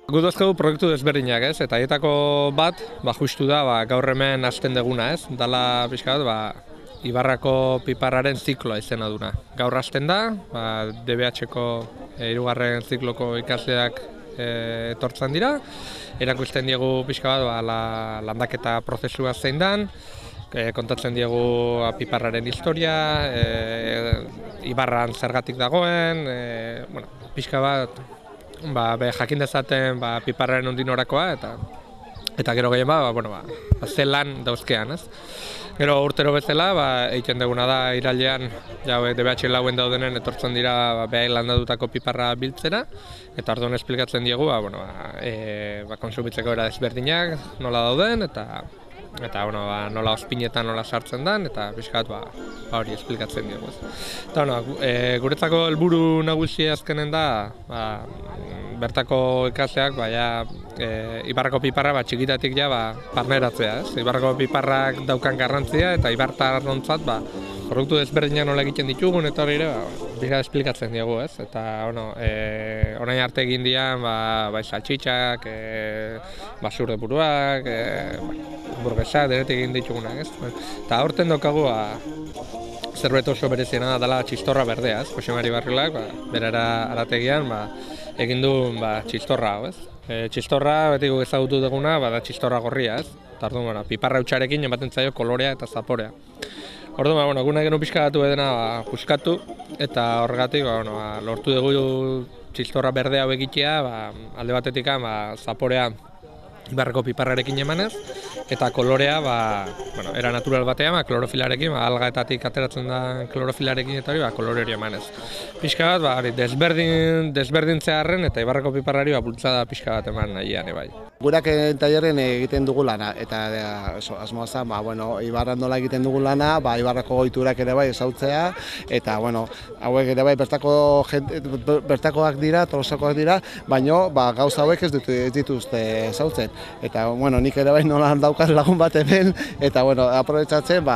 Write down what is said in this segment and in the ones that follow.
Gu dozkegu proiektu desberdinak, ez? Eta haietako bat, justu da, gaur hemen hasten deguna, ez? Dala pixka bat, Ibarrako piparraren zikloa izena duna. Gaur hasten da, DBH-ko hirugarren zikloko ikasleak etortzen dira, erakusten diegu pixka bat landaketa prozesua zein dan, kontatzen diegu piparraren historia, Ibarran zergatik dagoen, pixka bat, jakin dezaten piparraren ondin orakoa eta gero gehien ze lan dauzkean, ez? Gero urtero bezala, egiten duguna da irailean, DBH lauen daudenen etortzen dira behain landatutako piparra biltzera, eta orduan esplikatzen diegu, konsumitzeko era desberdinak nola dauden, eta nola ospinetan nola sartzen den, eta pixkat hori esplikatzen dugu. Guretzako helburu nagusia azkenen da, bertako ikasleak Ibarrako piparra txikitatik barneratzea. Ibarrako piparrak daukan garrantzia eta ibartarrontzat produktu desberdinak nola egiten ditugun eta hori ere pixkat esplikatzen dugu. Eta orain arte egin dian saltxitxak, basurde buruak, burgesa, denetik egin ditugunak, ez? Eta aurten daukagu zerbait oso bereziena dela txistorra berdea, ez? Jose Mari Barrilak, berara arategian, egin du txistorra hau, ez? Txistorra, beti guk ezagutu duguna, da txistorra gorria, ez? Eta orduan, piparra hutsarekin ematen zaio kolorea eta zaporea. Orduan, guna genuen pixka batu edena puskatu, eta horregatik, lortu dugu txistorra berdea hau egitea, alde batetik zaporea Ibarrako piparrarekin emanez, eta kolorea, era natural batean, klorofilarekin, algaetatik ateratzen da klorofilarekin eta hori, kolore hori emanez. Pixka bat, desberdintzearen eta Ibarrako piparrari bultzada pixka bat eman nahian, bai. Gurak tailerren egiten dugu lana, eta asmoa zen, Ibarran nola egiten dugu lana, Ibarrako ohiturak ere bai ezautzea, eta hauek ere bai bertakoak dira, tolosakoak dira, baina gauza hauek ez dituzte ezautzen. Eta nik ere bai nola daukaz lagun bat hemen, eta aprobetxatzen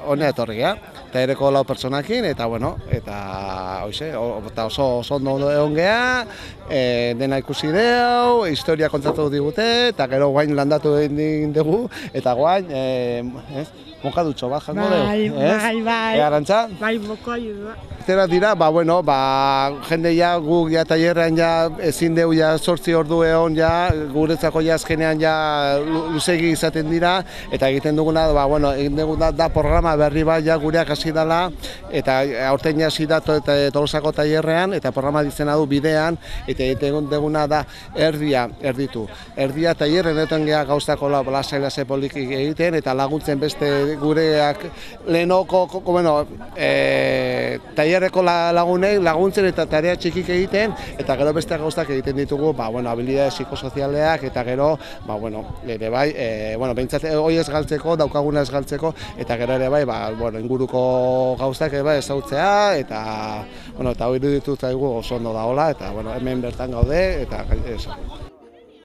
honea etorria. Eta ereko lau pertsonakin, eta oso ondo egon geha, dena ikusi deu, historia kontatu digute, eta gero guain landatu egin dugu, eta guain, mokadutxo bat jango dugu. Bai. Arantza? Bai, mokadutxo. Zera dira, jende guk tailerrean ezin deu 8 ordu egon, guretzako azkenean luzegi izaten dira, eta egiten duguna, egin duguna da programa berri bat gureak hasi dela, eta aurten hasi da Tolosako tailerrean, eta programa dizena du bidean, eta egiten duguna da erditu. Erdia tailerren eten geha gauzako lasai polikik egiten, eta laguntzen beste gureak lehenoko, tailerreko lagunei laguntzen eta tarea txikik egiten, eta gero beste gauzak egiten ditugu, habilidade psikosozialeak, eta gero, ere bai, behintzat hori ez galtzeko, daukaguna ez galtzeko, eta gero ere bai, inguruko gauzak ere bai ezautzea, eta hori ditut zaigu oso ondo daola, eta hemen bertan gaude, eta